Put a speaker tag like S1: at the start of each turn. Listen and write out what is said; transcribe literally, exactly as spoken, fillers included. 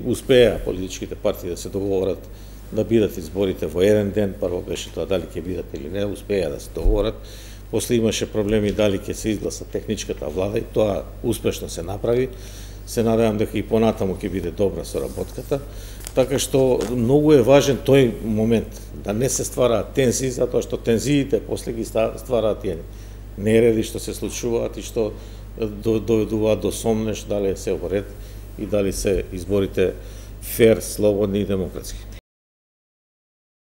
S1: Успеа политичките партии да се договорат да бидат изборите во еден ден. Прво беше тоа дали ќе бидат или не, успеа да се договорат. После имаше проблеми дали ќе се изгласа техничката влада и тоа успешно се направи. Се надевам дека и понатаму ќе биде добра соработката. Така што многу е важен тој момент, да не се ствараат тензии, затоа што тензиите после ги ствараат тие нереди што се случуваат и што доведуваат до сомнеш дали се во ред и дали се изборите фер, слободни и демократски.